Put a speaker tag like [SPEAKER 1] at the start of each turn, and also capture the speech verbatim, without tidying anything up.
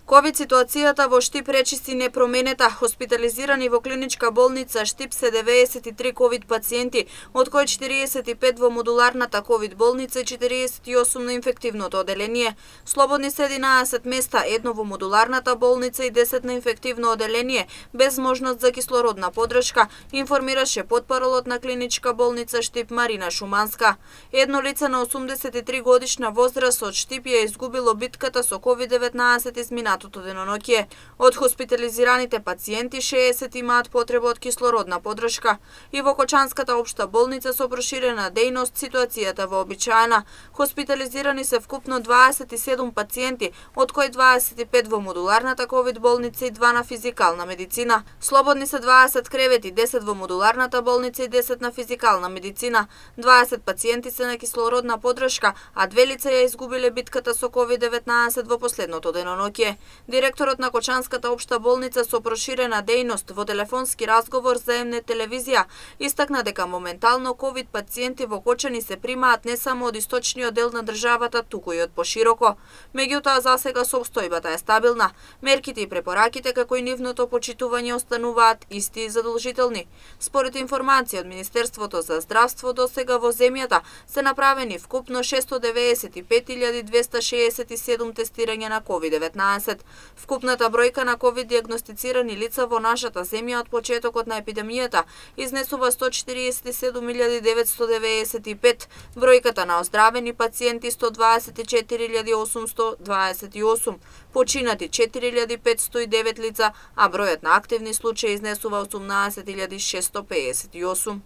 [SPEAKER 1] ковид ситуацијата во Штип речиси непроменета. Хоспитализирани во клиничка болница Штип се деветдесет и три ковид пациенти, од кои четириесет и пет во модуларната ковид болница и четириесет и осум на инфективното оделение. Слободни се единаесет места, едно во модуларната болница и десет на инфективно оделение, без можност за кислородна подршка, информираше потпаролот на клиничка болница Штип Марина Шуманска. Едно лице на осумдесет и три годишна возраст од Штип ја изгубило битката со ковид деветнаесет изминатото деноноќе. Од хоспитализираните пациенти шеесет имаат потреба од кислородна подршка. И во Кочанската општа болница со проширена дејност ситуацијата вообичаена. Хоспитализирани се вкупно дваесет и седум пациенти, од кои дваесет и пет во модуларната ковид болница и два на физикална медицина. Слободни се дваесет кревети, десет во модуларната болница и десет на физикална медицина. дваесет пациенти се на кислородна подршка, а две лица ја изгубиле битката со ковид деветнаесет во последното деноноќе. Директорот на Кочанската општа болница со проширена дејност во телефонски разговор за М Н телевизија истакна дека моментално ковид пациенти во Кочани се примаат не само од источниот дел на државата, туку и од пошироко. Меѓутоа, засега состојбата е стабилна. Мерките и препораките како и нивното почитување остануваат исти и задолжителни. Според информација од Министерството за здравство, досега во земјата се направени вкупно шестстотини деветдесет и пет илјади двесте шеесет и седум тестирања на ковид деветнаесет. Вкупната бројка на ковид диагностицирани лица во нашата земја од почетокот на епидемијата изнесува сто четириесет и седум илјади деветстотини деведесет и пет, бројката на оздравени пациенти сто дваесет и четири илјади осумстотини дваесет и осум, починати четири илјади петстотини и девет лица, а бројот на активни случаи изнесува осумнаесет илјади шестстотини пеесет и осум.